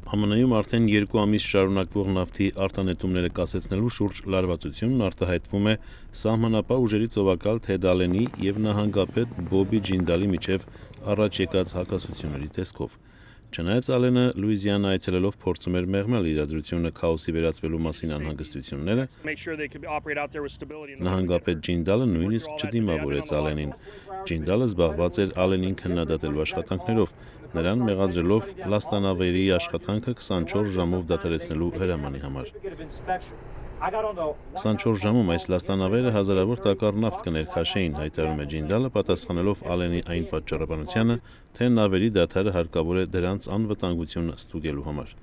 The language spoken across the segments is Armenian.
ԱՄՆ-ում արդեն 2 ամիս շարունակվող նավթի արտանետումները կասեցնելու շուրջ լարվածությունն արտահայտվում է սահմանապահ ուժերի ծովակալ Թեդ Ալենի և նահանգապետ Բոբի Ջինդալի միջև առաջ եկած հակասությունների տեսքով։ Չնայած Ալենը Լուիզիանա այցելելով փորձում էր մեղմել իրադրությունը քաոսի վերածվելու մասին անհանգստությունները, նահանգապետ Ջինդալը նույնիսկ չդիմավորեց Ալենին։ Ջինդալը զբաղված էր Ալենին քննադատելու աշխատանքներով, նրան մեղադրելով լաստանավերի աշխատանքը 24 ժամով դադարեցնելու հրամանի համար։ 24 ժամում այս լաստանավերը հազարավոր տակառ նավթ կներքաշեին, հայտարարում է Ջինդալը, պատասխանելով Ալենի այն պատճառաբանությանը, թե նավերի դադարը հարկավոր է դրանց անվտանգությունը ստուգելու համար։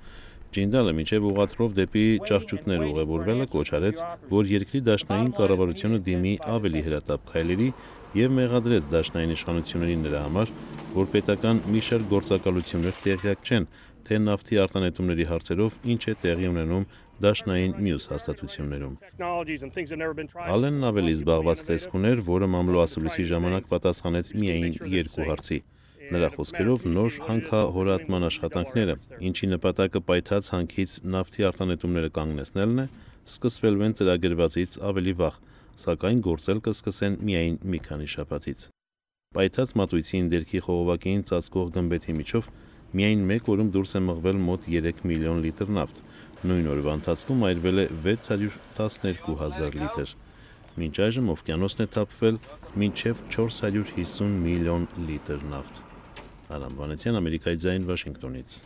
Ջինդալը մինչև ուղղաթրով դեպի ճահճուտներ ուղևորվելը կոչ արեց, որ երկրի դաշնային կառավարությունը դիմի ավելի հրատապ քայլերի և մեղադրեց դաշնային իշխանություններին նրա համար, որ պետական մի շարք գործակալություններ տեղյակ չեն, թե նավթի արտանետումների հարցերով ինչ է տեղի ունենում դաշնային մյուս հաստատություններում։ Ալենն ավելի զբաղված տեսք ուներ, որը մամլոասուլիսի ժամանակ պատասխանեց միայն 2 հարցի։ Նրա խոսքերով նոր հանքահորատման աշխատանքները, ինչի նպատակը պայթած հանքից նավթի արտանետումները կանգնեցնելն է, սկսվելու են ծրագրվածից ավելի վաղ, սակայն գործել կսկսեն միայն մի քանի շաբաթից։ Պայթած մատույցի ընդերքի խողովակին ծածկող գմբեթի միջով միայն մեկ օրում դուրս է մղվել մոտ 3 միլիոն լիտր նավթ, նույն օրվա ընթացքում այրվել է 612 հազար լիտր։ Մինչ այժմ օվկիանոսն է թափվել մինչև 450 միլիոն լիտր նավթ։ Արամ Վանեցյան, Ամերիկայի ձայն, Վաշինգտոնից։